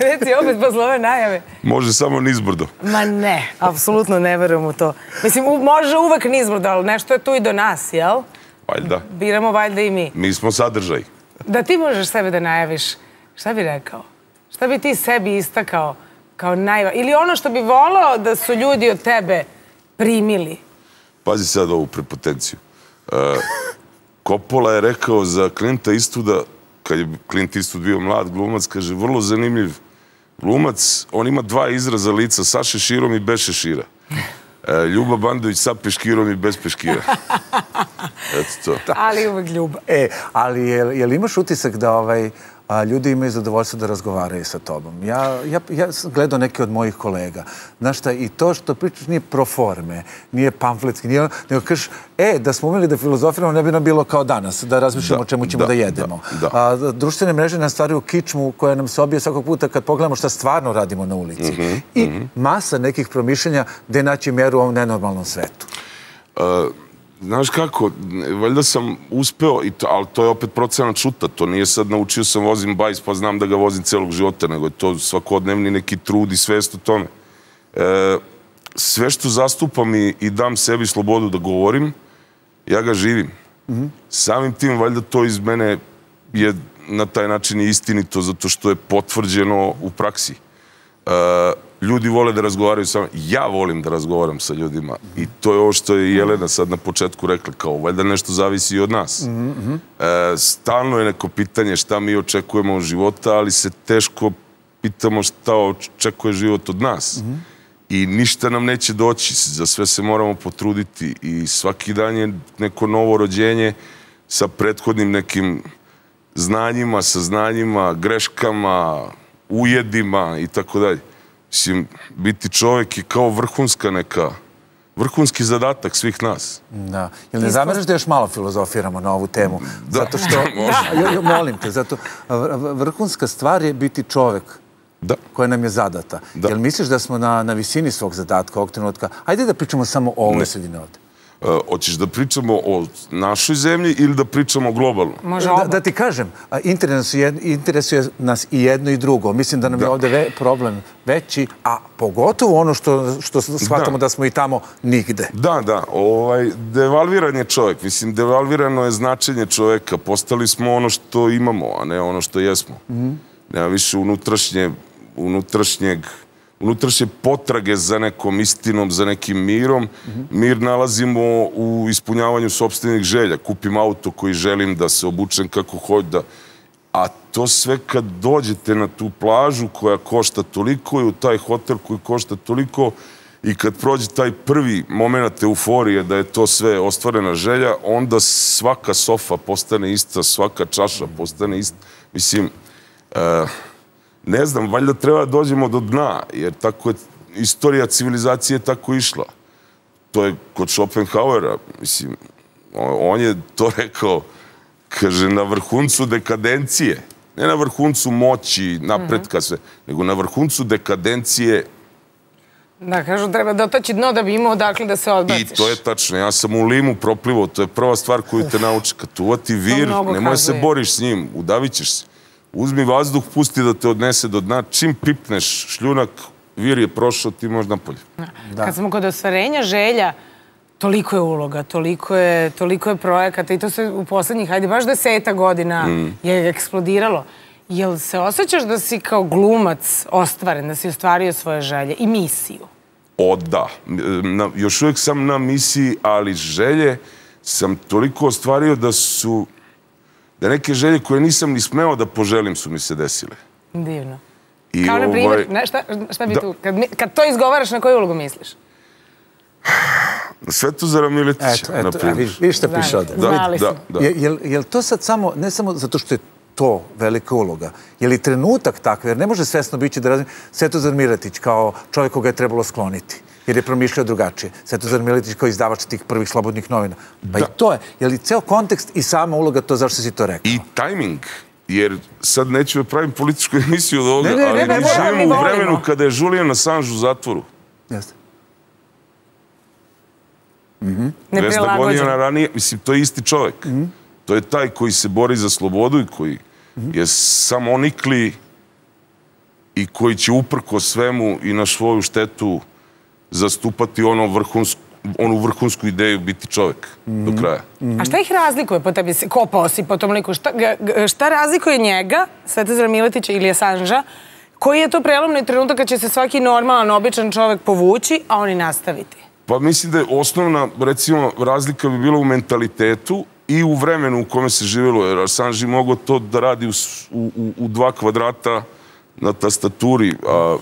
Reci opet posle ove najave. Može samo nizbrdo. Ma ne, apsolutno ne verujem u to. Mislim, može uvek nizbrdo, ali nešto je tu i do nas, jel? Valjda. Biramo valjda i mi. Mi smo sadržaj. Da ti možeš sebe da najaviš, šta bi rekao? Šta bi ti sebi istakao kao najvažnije? Ili ono što bi volao da su ljudi od tebe primili? Pazi sad ovu prepotenciju. Coppola je rekao za Clinta Eastwooda, kad je Clint Eastwood bio mlad glumac, kaže, vrlo zanimljiv glumac, on ima dva izraza lica, sa šeširom i bez šešira. Ljuba Bandović sa peškirom i bez peškira. Eto to. Ali uvek Ljuba. Ali je li imaš utisak da ljudi imaju zadovoljstvo da razgovaraju sa tobom? Ja sam gledao neke od mojih kolega. Znaš šta, i to što pričaš nije pro forme, nije pamfletski, nego kažeš, da smo umeli da filozofiramo, ne bi nam bilo kao danas, da razmišljamo o čemu ćemo da jedemo. Društvene mreže nam stvaraju kičmu koja nam se obije svakog puta kad pogledamo šta stvarno radimo na ulici. I masa nekih promišljanja gde naći meru u ovom nenormalnom svetu. Znaš kako, valjda sam uspeo, ali to je opet procenat šuta, to nije sad naučio sam vozim bajs pa znam da ga vozim celog života, nego je to svakodnevni neki trud i svest o tome. Sve što zastupam i dam sebi slobodu da govorim, ja ga živim. Samim tim, valjda to iz mene je na taj način istinito, zato što je potvrđeno u praksi. Ljudi vole da razgovaraju sa mnom. Ja volim da razgovaram sa ljudima. I to je ovo što je Jelena sad na početku rekla, kao valjda nešto zavisi i od nas. Stalno je neko pitanje šta mi očekujemo od života, ali se teško pitamo šta očekuje život od nas. I ništa nam neće doći, za sve se moramo potruditi i svaki dan je neko novo rođenje sa prethodnim nekim znanjima, saznanjima, greškama, ujedima i tako dalje. Mislim, biti čovjek je kao vrhunski zadatak svih nas. Da. Jel ne zameraš da još malo filozofiramo na ovu temu? Zato što, molim te, zato vrhunska stvar je biti čovjek koja nam je zadata. Jel misliš da smo na visini svog zadatka ovog trenutka? Ajde da pričamo samo o ovoj sredini ovde. Hoćeš da pričamo o našoj zemlji ili da pričamo globalno? Da ti kažem, interesuje nas i jedno i drugo. Mislim da nam je ovde problem veći, a pogotovo ono što shvatamo da smo i tamo nigde. Da. Devalviran je čovjek. Mislim, devalvirano je značenje čovjeka. Postali smo ono što imamo, a ne ono što jesmo. Nema više unutrašnje potrage za nekom istinom, za nekim mirom. Mir nalazimo u ispunjavanju sopstvenih želja. Kupim auto koji želim, da se obučem kako hoću. A to sve kad dođete na tu plažu koja košta toliko i u taj hotel koji košta toliko i kad prođe taj prvi moment euforije da je to sve ostvarena želja, onda svaka sofa postane ista, svaka čaša postane ista. Mislim, ne znam, valjda treba da dođemo do dna, jer tako je istorija civilizacije tako išla. To je kod Schopenhauera, mislim, on je to rekao, kaže, na vrhuncu dekadencije, ne na vrhuncu moći, napretka sve, nego na vrhuncu dekadencije. Da, kažu, treba dotaći dno da bi imao odakle da se odbaciš. I to je tačno, ja sam u limu proplivao, to je prva stvar koju te nauči. Kad uvati vir, nemoj se boriš s njim, udavit ćeš se. Uzmi vazduh, pusti da te odnese do dna. Čim pipneš šljunak, vir je prošao, ti možeš napolje. Kad smo kod ostvarenja želja, toliko je uloga, toliko je projekata i to se u poslednjih, hajde, baš 10 godina je eksplodiralo. Jel se osjećaš da si kao glumac ostvaren, da si ostvario svoje želje i misiju? Da. Još uvijek sam na misiji, ali želje sam toliko ostvario da neke želje koje nisam ni smeo da poželim su mi se desile. Divno. Kao na primjer, šta bi tu, kad to izgovaraš, na koju ulogu misliš? Svetozara Miletića, na primjer. Vidiš šta piše ovdje. Da. Je li to sad samo, ne samo zato što je to velika uloga, je li trenutak takav, jer ne može svesno biti da razmišljati Svetozar Miletić kao čovjek koga je trebalo skloniti, jer je promišljao drugačije. Svetozar Miletić kao izdavač tih prvih slobodnih novina. Pa i to je. Je li ceo kontekst i sama uloga to zašto si to rekao? I tajming. Jer sad neću da pravim političku emisiju od ovoga, ali mi živimo u vremenu kada je Julian Assange u zatvoru. Jeste. 200 godina ranije, mislim, to je isti čovjek. To je taj koji se bori za slobodu i koji je samonikli i koji će uprko svemu i na svoju štetu zastupati onu vrhunsku ideju biti čovek do kraja. A šta ih razlikuje po tebi? Kopao si po tom liku. Šta razlikuje njega, Svetozara Miletića ili Assange-a? Koji je to prelomni trenutak kad će se svaki normalan, običan čovek povući, a oni nastaviti? Pa mislim da je osnovna, recimo, razlika bi bila u mentalitetu i u vremenu u kome se živjelo, jer Assange je mogao to da radi u 2 kvadrata na tastaturi, a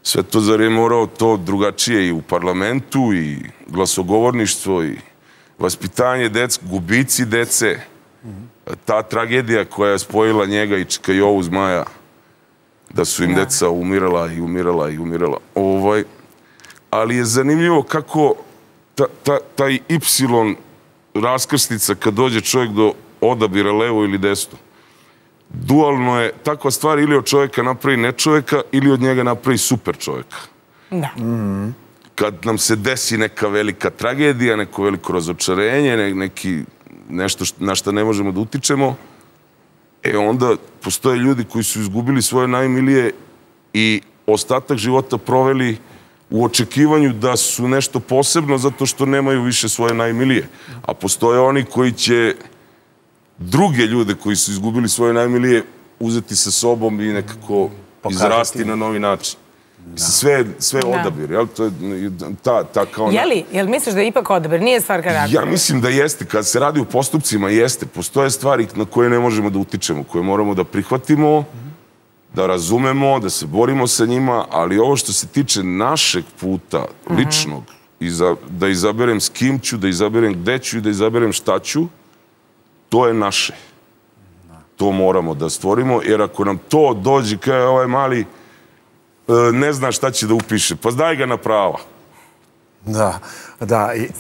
Svetozar je morao to drugačije i u parlamentu, i glasogovorništvo, i vaspitanje dece, gubici dece, ta tragedija koja je spojila njega i Čika Jovu Zmaja, da su im deca umirala i umirala i umirala. Ali je zanimljivo kako taj Y raskrsnica kad dođe čovjek do odabira levo ili desno. Dualno je takva stvar, ili od čovjeka napravi nečovjeka ili od njega napravi super čovjeka. Da. Kad nam se desi neka velika tragedija, neko veliko razočarenje, nešto na što ne možemo da utičemo, onda postoje ljudi koji su izgubili svoje najmilije i ostatak života proveli u očekivanju da su nešto posebno zato što nemaju više svoje najmilije. A postoje oni koji će druge ljude koji su izgubili svoje najmilije uzeti sa sobom i nekako izrasti na novi način. Sve je odabir, jel? To je ta kao... Jel misliš da je ipak odabir? Nije stvar karaktera? Ja mislim da jeste. Kad se radi u postupcima, jeste. Postoje stvari na koje ne možemo da utičemo, koje moramo da prihvatimo, da razumemo, da se borimo sa njima, ali ovo što se tiče našeg puta, ličnog, da izaberem s kim ću, da izaberem gde ću i da izaberem šta ću, to je naše. To moramo da stvorimo, jer ako nam to dođe kao ovaj mali ne zna šta će da upiše, pa daj ga na prava. Da.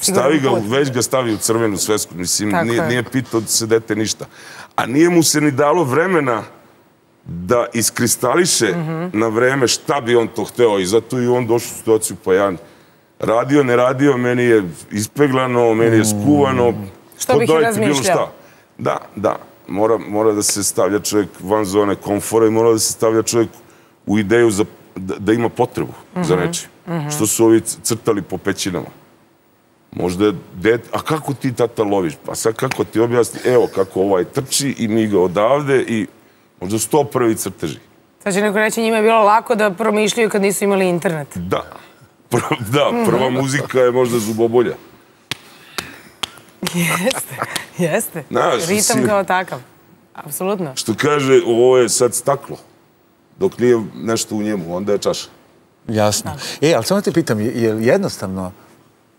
Stavi ga, već ga stavi u crvenu svesku, mislim, nije pitao da se dete ništa. A nije mu se ni dalo vremena da iskristališe na vreme šta bi on to hteo, i zato i on došao u situaciju, pa ja radio, ne radio, meni je ispeglano, meni je skuvano. Što bih i razmišljao. Da. Mora da se stavlja čovjek van zone komfora i mora da se stavlja čovjek u ideju da ima potrebu za nečim. Što su ovi crtali po pećinama. Možda je dete, a kako ti tata loviš? Pa sad kako ti objasni, evo kako ovaj trči i mi ga odavde i možda 101. crteži. Sad će neko reći, njima je bilo lako da promišljaju kad nisu imali internet. Da, prva muzika je možda Zubobolja. Jeste. Ritam kao takav. Apsolutno. Što kaže, ovo je sad staklo. Dok nije nešto u njemu, onda je čaša. Jasno. Ali samo te pitam, je li jednostavno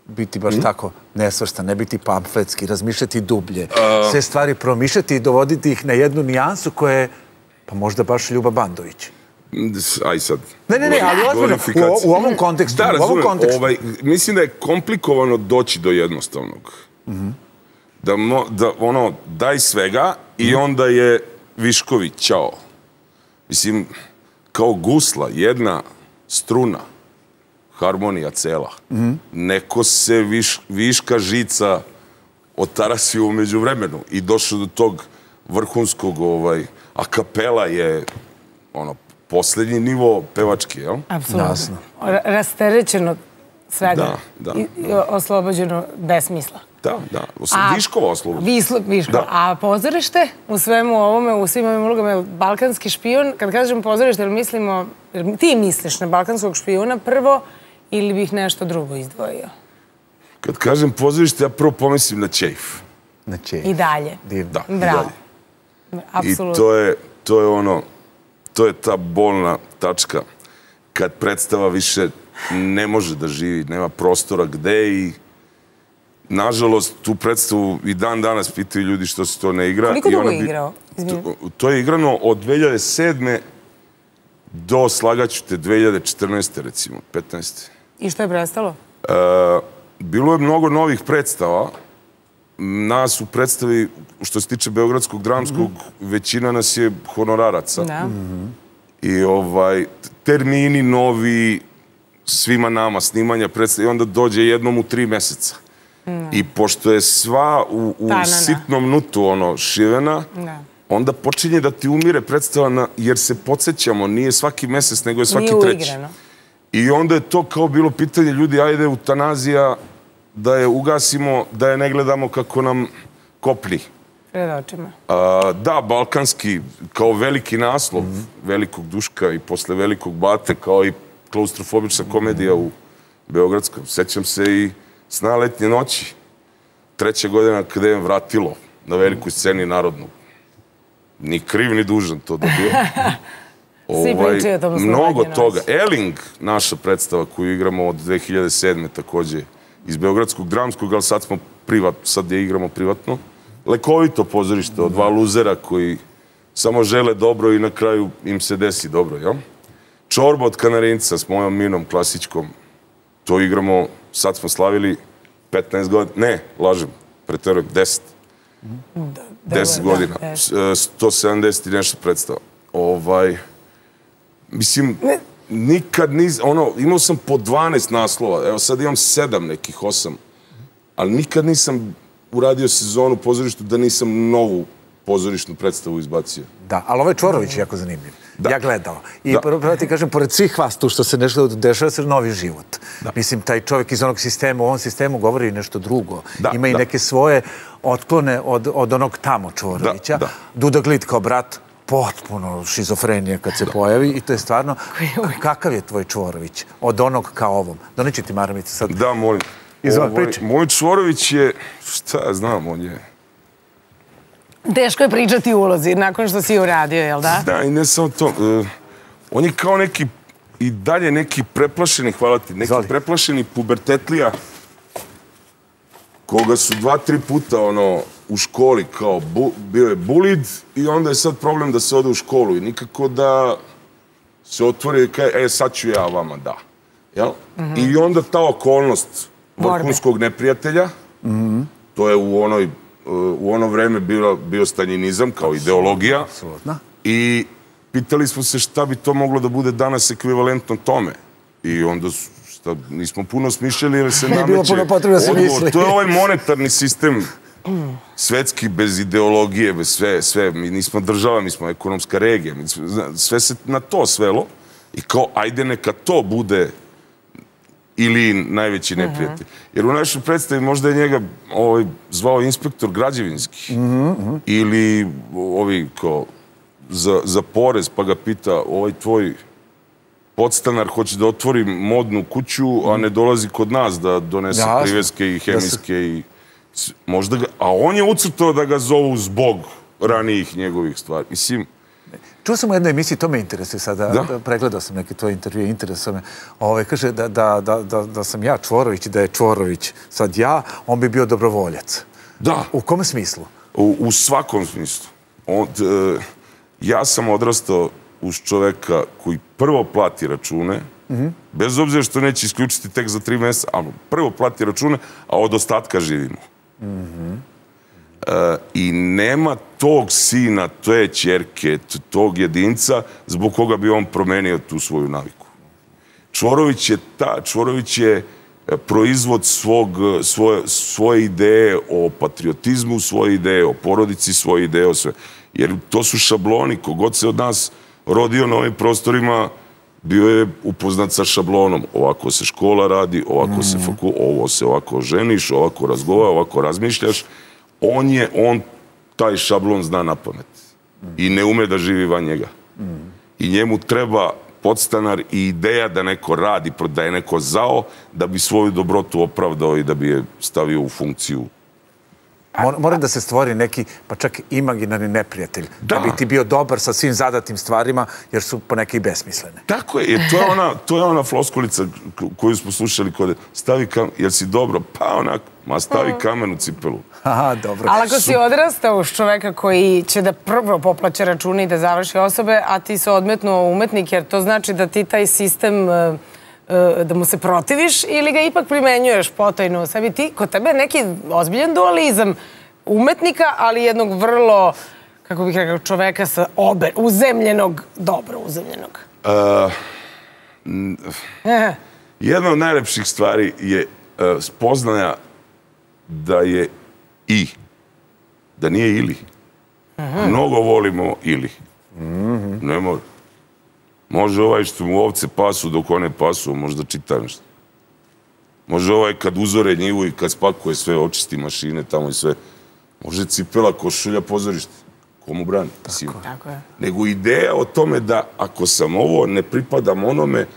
biti baš tako nesvrstan, ne biti pamfletski, razmišljati dublje, sve stvari promišljati i dovoditi ih na jednu nijansu koja je, pa možda baš Ljuba Bandović? Aj sad. Ne, ali ozbiljno, u ovom kontekstu. Da, razumem. Mislim da je komplikovano doći do jednostavnog. Da daj svega i onda je viškovi, ćao. Mislim, kao gusla, jedna struna, harmonija cela. Neko se viška žica otarasio umeđu vremenu i došao do tog vrhunskog, a kapela je poslednji nivo pevački, jel? Apsolutno. Rasterećeno svega. I oslobođeno besmisla. Da. Viškova oslobođena. Viškova. A pozorište u svemu ovome, u svim ovim ulogama, je balkanski špijun? Kad kažem pozorište, ti misliš na balkanskog špijuna prvo ili bih nešto drugo izdvojio? Kad kažem pozorište, ja prvo pomislim na Čejf. Na Čejf. I dalje. Da, i dalje. Apsolutno. I to je ta bolna tačka kad predstava više ne može da živi, nema prostora gde i nažalost, tu predstavu i dan danas pitaju ljudi što se to ne igra. Koliko dugo je igrao? To je igrano od 2007. do, slagaću te, 2014. recimo, 15. I što je prestalo? Bilo je mnogo novih predstava. Nas u predstavi, što se tiče Beogradskog dramskog, većina nas je honoraraca. I termini novi, svima nama, snimanja predstava, i onda dođe jednom u 3 meseca. I pošto je sva u sitnom nutu šivena, onda počinje da ti umire predstava, jer se podsjećamo, nije svaki mesec, nego je svaki treći. Nije uigrano. I onda je to kao bilo pitanje ljudi, ajde eutanazija, da je ugasimo, da je ne gledamo kako nam kopni. Pred očima. Da, balkanski, kao veliki naslov Velikog Duška i posle Velikog Bate, kao i klaustrofobična komedija u Beogradskom. Sećam se i Sna letnje noći. 3. godina kada je vratilo na velikoj sceni narodnu. Ni kriv, ni dužan to dobio. Svi pričaju o tom Sna mnogo letnje toga. noći. Eling, naša predstava koju igramo od 2007. takođe iz Beogradskog dramskog, ali sad je igramo privatno. Lekovito pozorište od dva luzera koji samo žele dobro i na kraju im se desi dobro, jel? Čorba od Kanarinca s mojom Minom klasičkom. To igramo, sad smo slavili 15 godina, ne, lažem, preterujem, 10. 10 godina, 170 i nešto predstava. Mislim, nikad imao sam po 12 naslova, evo sad imam 7 nekih, 8, ali nikad nisam uradio sezonu u pozorištu da nisam novu pozorišnu predstavu izbacio. Da, ali ovaj Čvorović je jako zanimljiv. Ja gledao. I prvo ti kažem, pored svih vas tu što se nešto dešava, se novi život. Mislim, taj čovjek iz onog sistema, u ovom sistemu govori nešto drugo. Ima i neke svoje otklone od onog tamo Čvorovića. Duda Glit kao brat, potpuno šizofrenija kad se pojavi i to je stvarno, kakav je tvoj Čvorović od onog ka ovom? Doneći ti maramice sad. Da, molim. Moj Čvorović je, šta ja znam, on je... Teško je pričati u ulozi nakon što si je uradio, jel da? Da, i ne samo to. On je kao neki, i dalje neki preplašeni, hvala ti, neki preplašeni pubertetlija koga su 2-3 puta u školi kao bio je bulid i onda je sad problem da se ode u školu i nikako da se otvori i kaže, sad ću ja vama, da. I onda ta okolnost vrhunskog neprijatelja, to je u ono vreme bio staljinizam kao ideologija i pitali smo se šta bi to moglo da bude danas ekvivalentno tome. I onda nismo puno smišljali jer se nameće odgovor. To je ovaj monetarni sistem svetski, bez ideologije, bez sve. Mi nismo država, mi smo ekonomska regija. Sve se na to svelo i kao ajde neka to bude ili najveći neprijatelj. Jer u našoj predstavi možda je njega zvao inspektor građevinski ili ovi kao za porez pa ga pita ovaj tvoj podstanar hoće da otvori modnu kuću, a ne dolazi kod nas da donese priveske i hemijske i možda ga... A on je ucrtao da ga zovu zbog ranijih njegovih stvari. Mislim... Čuo sam u jednoj emisiji, to me interesuje sada, pregledao sam neke tvoje intervjue, interesuje me, kaže da sam ja Čvorović i da je Čvorović sad ja, on bi bio dobrovoljac. Da. U kome smislu? U svakom smislu. Ja sam odrastao uz čoveka koji prvo plati račune, bez obzira što neće isključiti tek za 3 meseca, ali prvo plati račune, a od ostatka živimo. I nema tog sina, te ćerke, tog jedinca zbog koga bi on promenio tu svoju naviku. Čvorović je proizvod svoje ideje o patriotizmu, svoje ideje o porodici, svoje ideje o sve. Jer to su šabloni, kogod se od nas rodio na ovim prostorima, bio je upoznat sa šablonom. Ovako se škola radi, ovako se ovo se ovako ženiš, ovako razgovara, ovako razmišljaš. On taj šablon zna na pamet i ne ume da živi van njega. I njemu treba podstanar i ideja da neko radi, da je neko zao, da bi svoju dobrotu opravdao i da bi je stavio u funkciju. Mora da se stvori neki, pa čak imaginarni neprijatelj. Da bi ti bio dobar sa svim zadatim stvarima, jer su poneke i besmislene. Tako je. To je ona floskulica koju smo slušali kod stavi kamen, jel si dobro? Pa onak, stavi kamen u cipelu. Aha, dobro. Ali ako si odrastao uz čoveka koji će da prvo poplaća račune i da završi osobe, a ti se odmetnuo umetnik, jer to znači da ti taj sistem da mu se protiviš ili ga ipak primenjuješ potajno u sebi. Kod tebe je neki ozbiljan dualizam umetnika, ali jednog vrlo, kako bih rekao, čoveka sa uzemljenog, dobro uzemljenog. Jedna od najlepših stvari je spoznaja da je da nije ili. Mnogo volimo ili. Ne mora. Može ovaj što mu ovce pasu dok one pasu, možda čita nešto. Može ovaj kad uzore njivu i kad spakuje sve, očisti mašine tamo i sve. Može cipela, košulja, pozorište. Komu brani? Tako je. Nego ideja o tome da ako sam ovo, ne pripadam onome,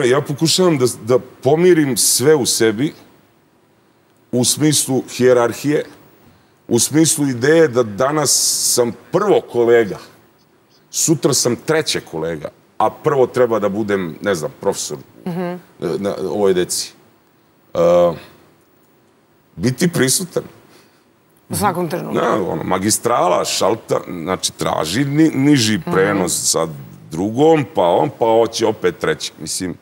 ja pokušavam da pomirim sve u sebi u smislu hijerarhije, u smislu ideje da danas sam prvo kolega, sutra sam treće kolega, a prvo treba da budem, ne znam, profesor na ovoj deci. Biti prisutan. U svakom trenutku. Magistrala, šalta, znači traži niži prenos sa drugom, pa hoće opet treći. Mislim,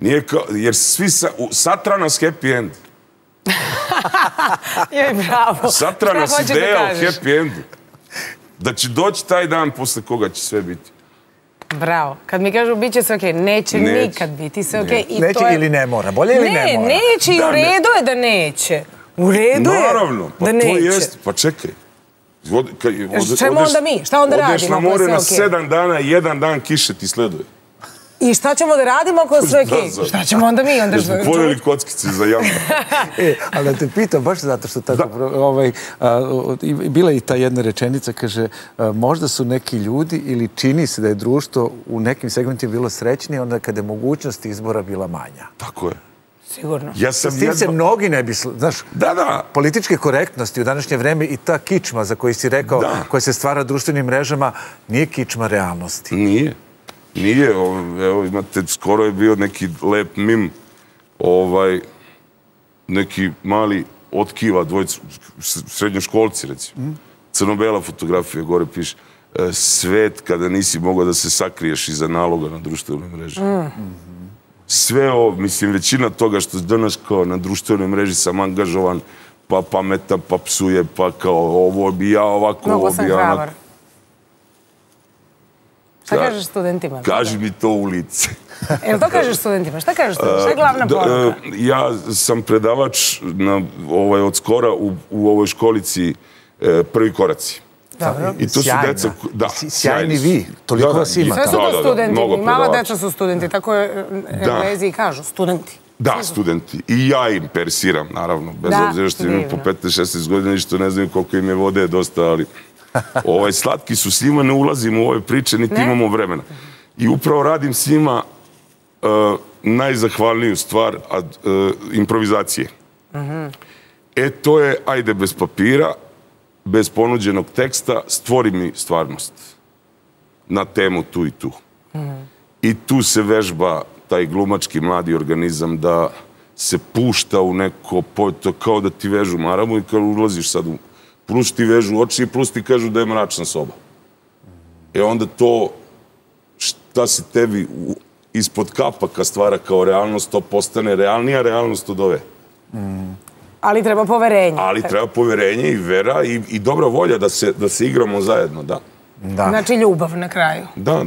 nije kao, jer svi satra nas happy end. Joj, bravo. Satra nas ideja o happy endu. Da će doći taj dan posle koga će sve biti. Bravo. Kad mi kažu bit će sve okej, neće nikad biti sve okej. Neće ili ne mora, bolje ili ne mora? Neće i u redu je da neće. U redu je da neće. To jest, pa čekaj. Čemu onda mi? Šta onda radimo? Odeš na more na 7 dana, 1 dan kiše ti sleduje. I šta ćemo da radimo ako je sve okej? Šta ćemo onda mi? Jer smo pojeli kockice za jamu. Ali da te pitam, baš zato što tako... Bila je i ta jedna rečenica, kaže, možda su neki ljudi ili čini se da je društvo u nekim segmentima bilo srećnije onda kada je mogućnost izbora bila manja. Tako je. Sigurno. S tim se mnogi ne bi... Znaš, političke korektnosti u današnje vreme i ta kičma za koju si rekao, koja se stvara društvenim mrežama, nije kičma realnosti. Nije. Nije. Evo, imate, skoro je bio neki lep mim, neki mali otkiva, dvojica, srednjoškolci, recimo. Crno-bela fotografija, gore piše, svet kada nisi mogao da se sakriješ iza naloga na društvenoj mreži. Sve ovo, mislim, većina toga što danas kao na društvenoj mreži sam angažovan, pa pametan, pa psuje, pa kao ovo bi ja ovako, ovo bi ja onako. Hrabar. Šta kažeš studentima? Kaži mi to u lice. Jel to kažeš studentima? Šta kažeš studentima? Šta je glavna poruka? Ja sam predavač od skora u ovoj školici Prvi koraci. I to su deca... Sjajni vi, toliko vas ima. Sve su to studenti, mala deca su studenti, tako je Englezi i kažu, studenti. Da, studenti. I ja im persiram, naravno, bez obzira što imam po 15-16 godina i što ne znam koliko im je vode dosta, ali slatki su s njima, ne ulazim u ove priče, niti imamo vremena. I upravo radim s njima najzahvalniju stvar, improvizacije. To je, ajde, bez papira, bez ponuđenog teksta, stvori mi stvarnost na temu tu i tu. I tu se vežba taj glumački mladi organizam da se pušta u neko, to kao da ti vežu maramu i kad ulaziš sad, plus ti vežu oči i plus ti kažu da je mračna soba. Onda to šta se tebi ispod kapaka stvara kao realnost, to postane realnija realnost od ove. Ali treba poverenje. Ali treba poverenje i vera i dobra volja da se igramo zajedno, da. Znači ljubav na kraju. Da.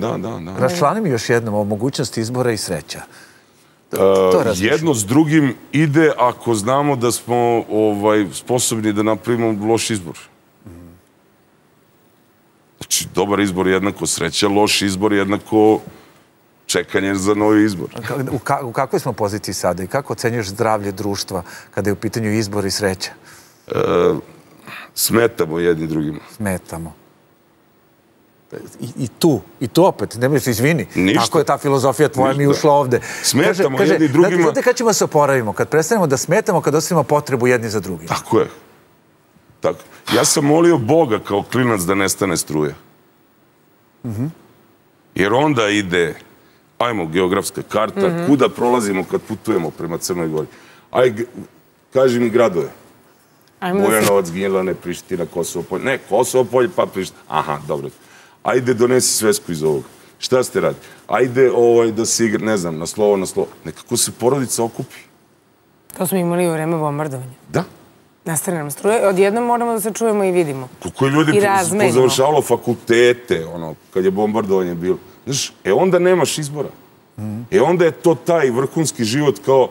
Raščlani mi još jednom o mogućnosti izbora i sreća. Jedno s drugim ide ako znamo da smo sposobni da napravimo loš izbor. Znači, dobar izbor je jednako sreća, loš izbor je jednako čekanje za novi izbor. U kakvoj smo poziciji sada i kako ocenjuješ zdravlje društva kada je u pitanju izbor i sreća? Smetamo jedni drugima. Smetamo. I tu opet, nemoj se izvini. Tako je ta filozofija tvoja mi ušla ovde. Smetamo jedni drugima. Znate kad ćemo se oporavimo? Kad prestanemo da smetamo, kad ostavimo potrebu jedni za drugim. Tako je. Ja sam molio Boga kao klinac da nestane struja. Jer onda ide, ajmo, geografska karta, kuda prolazimo kad putujemo prema Crnoj Gori. Ajde, kaži mi gradove. Bujanovac, Gnjilane, Priština, Kosovo polje. Ne, Kosovo polje pa Priština. Aha, dobro. Ajde, donesi svesku iz ovoga. Šta ste radili? Ajde da se igra, ne znam, na slovo. Nekako se porodica okupi. To smo imali u vreme bombardovanja. Da. Nastane nam struje. Odjednom moramo da se čujemo i vidimo. Koliko je ljudi pozavršavalo fakultete, kad je bombardovanje bilo. Znaš, onda nemaš izbora. Onda je to taj vrhunski život kao...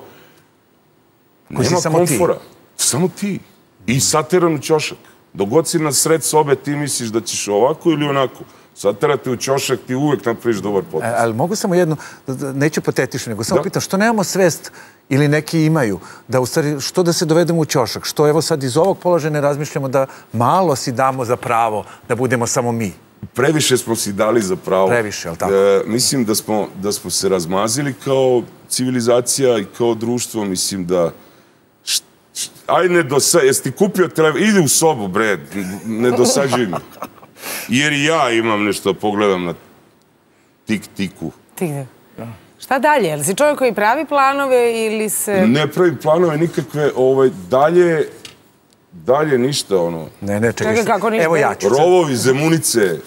Nema komfora. Samo ti. I sateran u ćošak. Dok god si na sred sobe, ti misliš da ćeš ovako ili onako. Sad terate u ćošak, ti uvek napraviš dobar potez. Ali mogu samo jedno, neću patetično, nego samo pitam, što nemamo svest ili neki imaju, da u stvari, što da se dovedemo u ćošak? Što evo sad iz ovog položaja ne razmišljamo da malo si damo za pravo da budemo samo mi? Previše smo si dali za pravo. Previše, ali tako? Mislim da smo se razmazili kao civilizacija i kao društvo. Mislim da... Ajde, ne dosađuj. Jesi ti kupio telefon? Idi u sobu, bre. Ne dosađuj mi. Jer i ja imam nešto, pogledam na tik-tiku. Šta dalje? Jel si čovjek koji pravi planove ili se... Ne pravim planove nikakve. Dalje ništa, ono... Ne, čekaj. Evo ja ću. Rovovi, Zemunice.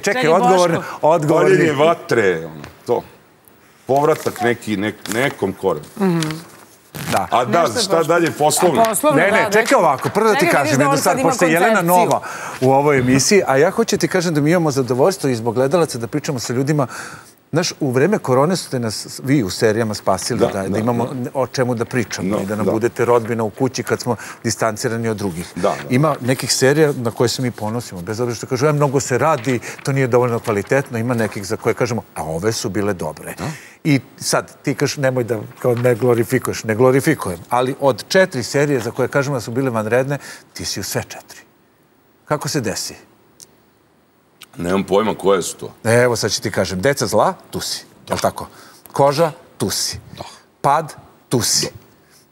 Čekaj, odgovorni. Paljenje vatre, to. Povratak nekom korenu. A da, šta dalje, poslovno? Ne, čekaj ovako, prvo da ti kažem jednu stvar, pošto je Jelena nova u ovoj emisiji, a ja hoću ti kažem da mi imamo zadovoljstvo i zbog gledalaca da pričamo sa ljudima. Znaš, u vreme korone ste nas vi u serijama spasili da imamo o čemu da pričamo i da nam budete rodbina u kući kad smo distancirani od drugih. Ima nekih serija na koje se mi ponosimo, bez obzira što kažu, mnogo se radi, to nije dovoljno kvalitetno, ima nekih za koje kažemo, a ove su bile dobre. I sad, ti kažeš, nemoj da ne glorifikuješ, ne glorifikujem, ali od 4 serije za koje kažemo da su bile vanredne, ti si u sve 4. Kako se desi? Nemam pojma koje su to. Evo sad ću ti kažem, Deca zla, tu si, je li tako? Koža, tu si. Pad, tu si.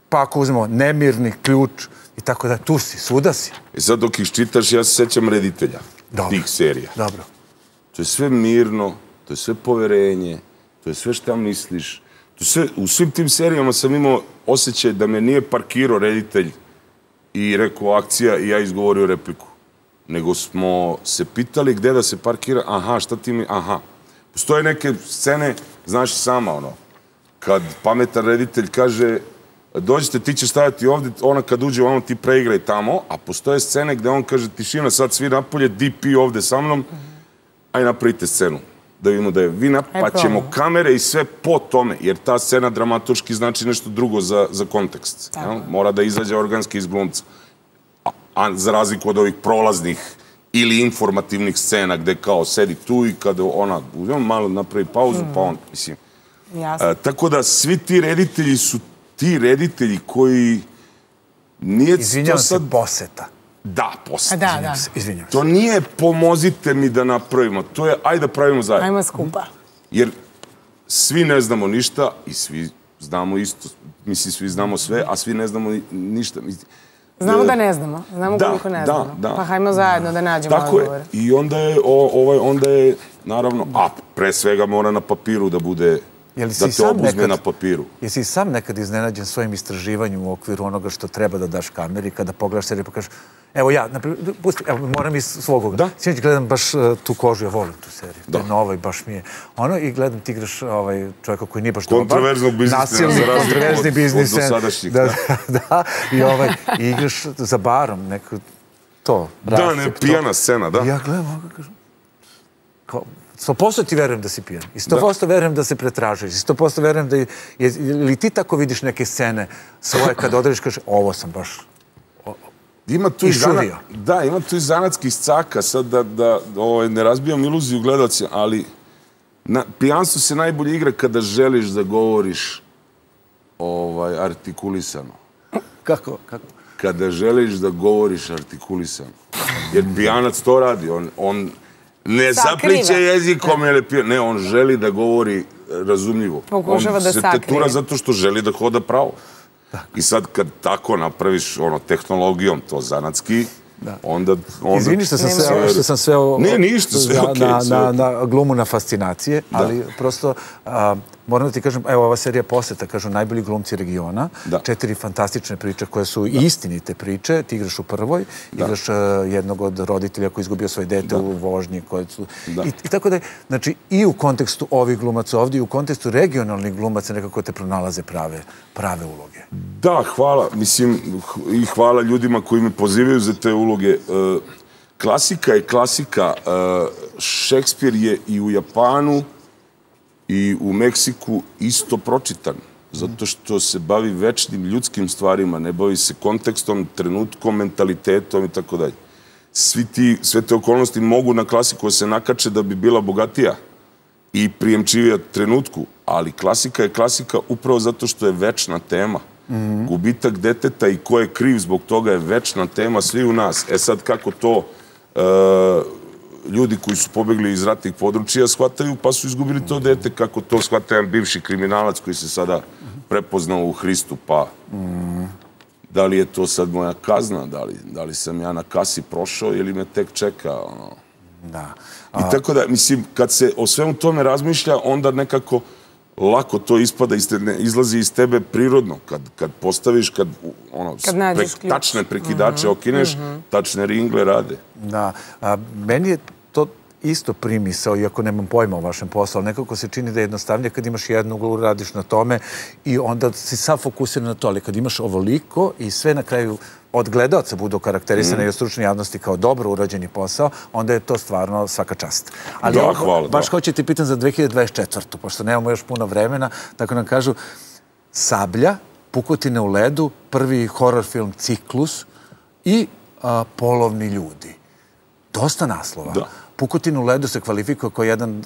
Pa ako uzmemo Nemirni, Ključ i tako da, tu si, svuda si. I sad dok ih čitaš, ja se sećam reditelja tih serija. Dobro. To je sve mirno, to je sve poverenje, to je sve šta misliš. U svim tim serijama sam imao osjećaj da me nije parkirao reditelj i rekao akcija i ja izgovorio repliku. Nego smo se pitali gde da se parkira, šta ti mi, Postoje neke scene, znaš i sama, kad pametan reditelj kaže dođite, ti će stajati ovdje, ona kad uđe, ti preigraj tamo, a postoje scene gde on kaže tišina, sad svi napolje, DP ovdje sa mnom, aj napravite scenu. Da vidimo da je vina, pa ćemo kamere i sve po tome, jer ta scena dramaturški znači nešto drugo za kontekst. Mora da izađe organski iz glumca. A za razliku od ovih prolaznih ili informativnih scena gde kao sedi tu i kada ona malo napravi pauzu, pa on, mislim. Tako da svi ti reditelji su ti reditelji koji nije... Izvinjavam se, Poseta. Da, Poseta. Izvinjavam se. To nije pomozite mi da napravimo, to je ajde da pravimo zajedno. Ajmo skupa. Jer svi ne znamo ništa i svi znamo isto, mislim svi znamo sve, a svi ne znamo ništa. Znamo da ne znamo, znamo koliko ne znamo. Pa hajmo zajedno da nađemo odgovore. Tako je. I onda je, naravno, pre svega mora na papiru da bude, da te obuzme na papiru. Jesi i sam nekad iznenađen svojim istraživanjem u okviru onoga što treba da daš kameri, kada pogledaš seriju pa kažeš, evo ja, moram iz svog oga. Sinoć gledam baš Tu kožu, ja volim tu seriju. To je nova i baš mi je. I gledam ti igraš čovjeka koji nije baš dobar. Kontroverznog biznismena, za razliku od dosadašnjih. Da, i igraš za barom, neko to. Da, ne, pijana scena, da. I ja gledam ovoga, kažem, 100% ti verujem da si pijan. I 100% verujem da se pretražuješ. I 100% verujem da... Ili ti tako vidiš neke scene svoje kad odrediš, kažeš, ovo sam baš išurio. Da, ima tu i zanatskih caka, sad da ne razbijam iluziju gledalcima, ali pijanstvo se najbolje igra kada želiš da govoriš artikulisano. Kako? Kada želiš da govoriš artikulisano. Jer pijanac to radi, on ne zapliče jezikom, ne, on želi da govori razumljivo. Pokušava da sakrije. On se tetura zato što želi da hoda pravo. I sad kad tako napraviš tehnologijom to zanatski, onda... Izvini što sam sve na glumu na fascinacije, ali prosto moram da ti kažem, evo ova serija Poseta, kažu najbolji glumci regiona, 4 fantastične priče koje su istinite priče, ti igraš u prvoj, igraš jednog od roditelja koji izgubio svoje dete u vožnji, i tako da je, znači i u kontekstu ovih glumaca ovdje i u kontekstu regionalnih glumaca nekako te pronalaze prave uloge. Da, hvala, mislim, i hvala ljudima koji me pozivaju za te uloge. Klasika je klasika. Šekspir je i u Japanu i u Meksiku isto pročitan. zato što se bavi večnim ljudskim stvarima, ne bavi se kontekstom, trenutkom, mentalitetom i tako dalje. Sve te okolnosti mogu na klasiku se nakače da bi bila bogatija i prijemčivija trenutku, ali klasika je klasika upravo zato što je večna tema. Gubitak deteta i ko je kriv zbog toga je večna tema svi u nas. E sad kako to ljudi koji su pobegli iz ratnih područja shvataju pa su izgubili to dete, kako to shvata jedan bivši kriminalac koji se sada prepoznao u Hristu, pa da li je to sad moja kazna, da li sam ja na kasi prošao ili me tek čeka, Da. I tako da, mislim, kad se o svemu tome razmišlja, onda nekako lako to ispada, izlazi iz tebe prirodno. Kad postaviš, kad tačne prekidače okineš, tačne ringle rade. Da. Meni je to isto primisao, iako nemam pojma o vašem poslu, ali nekako se čini da je jednostavnije kad imaš jednu uglu, radiš na tome i onda si sav fokusiran na to, ali kad imaš ovoliko i sve na kraju od gledaoca budu karakterisane i od stručne javnosti kao dobro urađeni posao, onda je to stvarno svaka čast. Ali da, hvala. Baš hoću ti pitan za 2024. Pošto nemamo još puno vremena, tako nam kažu Sablja, Pukotine u ledu, prvi horror film Ciklus i Polovni ljudi. Dosta naslova. Da. Pukotin u ledu se kvalifikuje kao jedan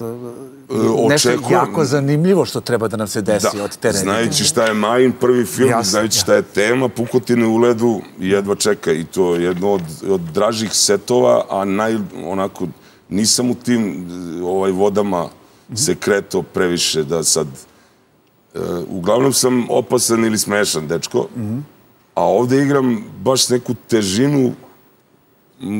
nešto jako zanimljivo što treba da nam se desi od te redine. Znajući šta je Majin prvi film, znajući šta je tema, Pukotine u ledu jedva čeka i to je jedno od dražih setova, a onako nisam u tim vodama se kretao previše da sad... Uglavnom sam opasan ili smešan, dečko, a ovde igram baš neku težinu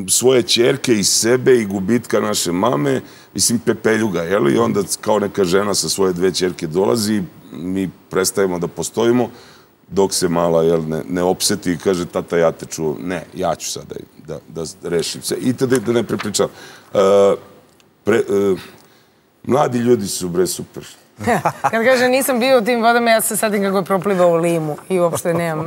svoje ćerke i sebe i gubitka naše mame, mislim pepeljuga, jel? I onda kao neka žena sa svoje 2 ćerke dolazi, mi prestajemo da postojimo, dok se mala ne opseti i kaže, tata, ja te čuvam. Ne, ja ću sada da rešim se. I tada da ne prepričam. Mladi ljudi su bre super. Kad kaže nisam bio u tim vodama, ja se sadim kako je proplivao u limu i uopšte nemam.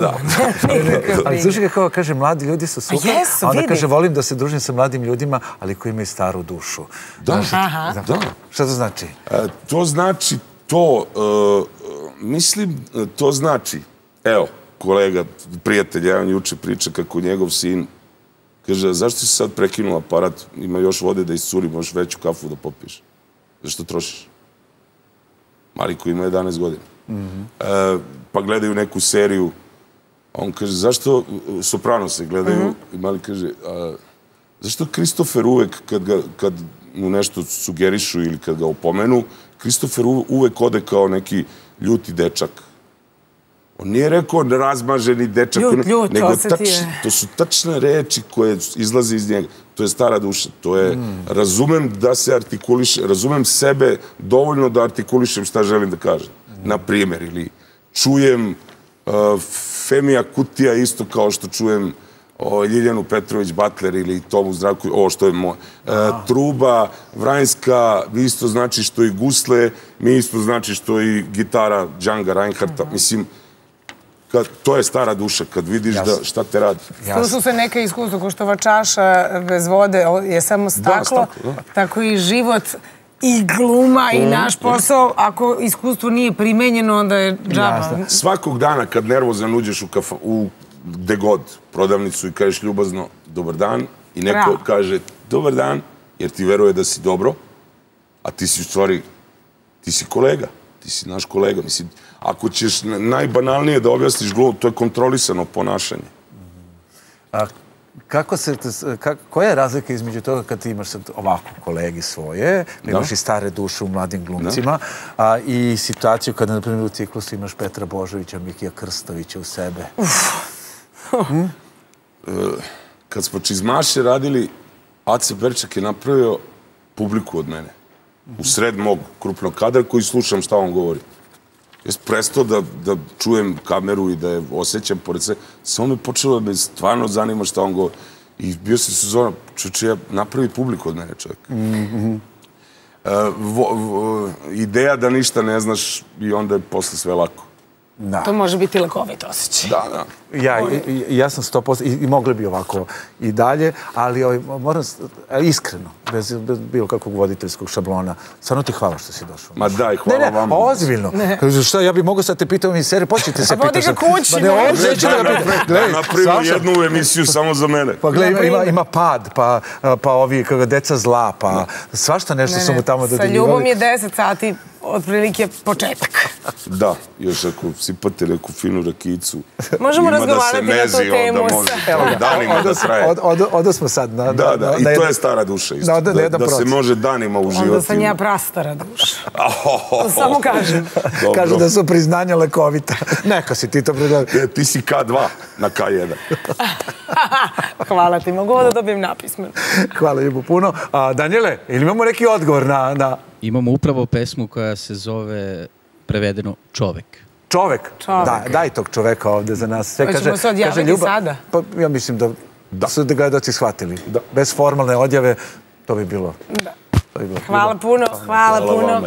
Ali slušaj kako kaže, mladi ljudi su super, a onda kaže, volim da se družim sa mladim ljudima, ali koji imaju staru dušu. Da. Šta to znači? To znači to, mislim, to znači, evo, kolega, prijatelj, jedan juče priča kako njegov sin kaže, zašto si sad prekinuo aparat, ima još vode da iscuri, možeš veću kafu da popiješ. Zašto trošiš? Mali koji ima 11 godina. Pa gledaju neku seriju, a on kaže, zašto Soprano se gledaju, i Mali kaže, zašto Kristofer uvek, kad mu nešto sugerišu ili kad ga opomenu, Kristofer uvek ode kao neki ljuti dečak. On nije rekao razmaženi dečak, nego to su tačne reči koje izlaze iz njega. To je stara duša, to je, razumem da se artikuliše, razumem sebe dovoljno da artikulišem šta želim da kažem. Na primjer, ili čujem Femija Kutija isto kao što čujem Ljiljanu Petrović Batler ili Tomu Zdravku, ovo što je moje. Truba, Vranjska, isto znači što i gusle, mi isto znači što i gitara Džanga Reinhardta, mislim, to je stara duša, kad vidiš šta te radi. Slušaju se neke iskustva, ko što ova čaša bez vode je samo staklo, tako i život i gluma i naš posao, ako iskustvo nije primenjeno, onda je džaba. Svakog dana kad nervozan uđeš u gde god prodavnicu i kažeš ljubazno dobar dan i neko kaže dobar dan, jer ti veruje da si dobro, a ti si u stvari, ti si kolega, ti si naš kolega, mislim, ako ćeš najbanalnije da objasniš glup, to je kontrolisano ponašanje. Koja je razlika između toga kad ti imaš ovako kolegi svoje, imaš i stare duše u mladim glumcima, i situaciju kada, na primjer, u Ciklusu imaš Petra Božovića, Mikija Krstovića u sebe? Kad smo Čizmaše radili, Ace Berčak je napravio publiku od mene. U sred mog krupnog kadra koji slušam šta on govori. Ja sam prestao da čujem kameru i da je osjećam pored sve. Samo me počelo da me stvarno zanima šta on govori. I bio sam sezona, čovječe, ja napravi publiku od mene, čovjek. Ideja da ništa ne znaš i onda je posle sve lako. To može biti lekovit osjećaj. Da. Ja sam 100% i mogli bi ovako i dalje, ali moram iskreno, bez bilo kakvog voditeljskog šablona, stvarno ti hvala što si došao. Ma daj, hvala vam. Ne, ozbiljno. Kažu, šta, ja bih mogao sad te pitao mi serije, počnite se pitati. Vodi ga kući. Napravimo jednu emisiju samo za mene. Pa gledaj, ima pad, pa ovi deca zla, pa svašta nešto su mu tamo dodeljivali. Sa ljubom je 10 sati otprilike početak. Da, još ako sipate neku finu rakicu. Možemo razgovarati na tu temu. Danima da traje. Odo smo sad. Da, i to je stara duša isto. Da se može danima uživati. Onda sam ja prastara duša. Samo kažem. Kažu da su priznanja lekovita. Neka si ti to priznanja. Ti si K2 na K1. Hvala ti, mogu da dobijem napismen. Hvala Ljubo puno. Danijele, ili imamo neki odgovor na... Imamo upravo pesmu koja se zove prevedeno Čovek. Čovek? Daj tog čoveka ovde za nas. Hoćemo se odjaviti sada? Pa ja mislim da su gledaoci shvatili. Bez formalne odjave to bi bilo... Hvala puno, hvala puno.